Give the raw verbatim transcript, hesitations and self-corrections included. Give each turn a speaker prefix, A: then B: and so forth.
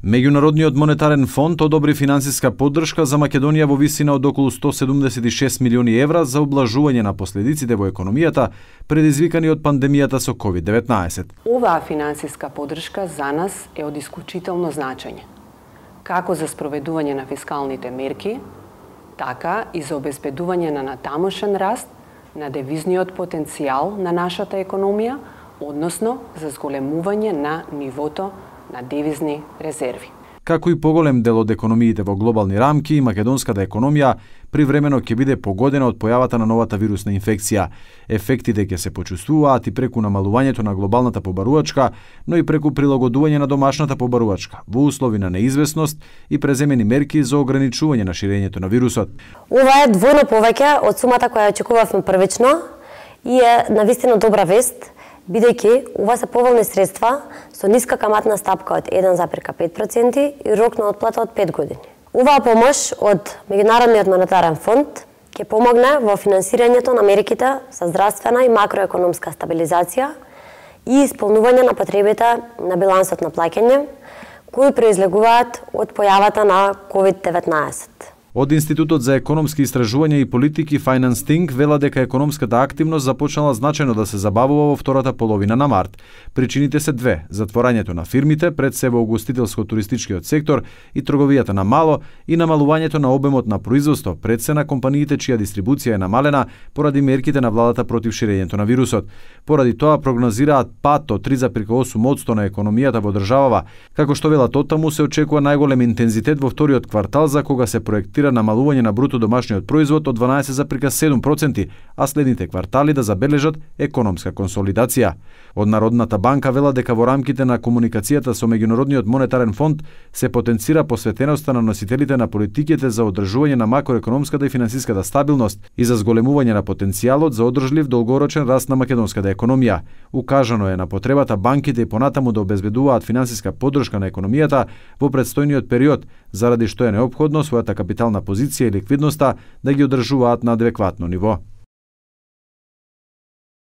A: Меѓународниот монетарен фонд одобри финансиска поддршка за Македонија во висина од околу сто седумдесет и шест милиони евра за облажување на последиците во економијата предизвикани од пандемијата со ковид деветнаесет.
B: Оваа финансиска поддршка за нас е од исклучително значење, како за спроведување на фискалните мерки, така и за обезбедување на натамошен раст на девизниот потенцијал на нашата економија, односно за зголемување на нивото на девизни резерви.
A: Како и поголем дел од економиите во глобални рамки, македонската економија привремено ќе биде погодена од појавата на новата вирусна инфекција. Ефектите ќе се почувствуваат и преку намалувањето на глобалната побарувачка, но и преку прилагодување на домашната побарувачка во услови на неизвестност и преземени мерки за ограничување на ширењето на вирусот.
C: Ова е двојно повеќе од сумата која очекувавме првично и е навистина добра вест, бидејќи ова се поволни средства со ниска каматна стапка од еден зарез пет проценти и рок на отплата од пет години. Оваа помош од Меѓународниот монетарен фонд ќе помогне во финансирањето на мерките за здравствена и макроекономска стабилизација и исполнување на потребите на билансот на плаќање кои произлегуваат од појавата на ковид деветнаесет.
A: Од Институтот за економски истражувања и политики FinanceThink вела дека економската активност започнала значајно да се забавува во втората половина на март. Причините се две: затворањето на фирмите, пред се во угостителско-туристичкиот сектор и трговијата на мало, и намалувањето на обемот на производство, пред се на компаниите чија дистрибуција е намалена поради мерките на владата против ширењето на вирусот. Поради тоа прогнозираат пад од три зарез осум одсто на економијата во државава, како што велат оттаму се очекува најголем интензитет во вториот квартал за кога се проектира намалување на бруто домашниот производ од дванаесет зарез седум проценти, а следните квартали да забележат економска консолидација. Од Народната банка вела дека во рамките на комуникацијата со Меѓународниот монетарен фонд се потенцира посветеноста на носителите на политиките за одржување на макроекономската и финансиската стабилност и за зголемување на потенцијалот за одржлив долгорочен раст на македонската економија. Укажано е на потребата банките и понатаму да обезбедуваат финансиска поддршка на економијата во предстојниот период, заради што е неопходно својата капитална позиција и ликвидноста да ги одржуваат на адекватно ниво.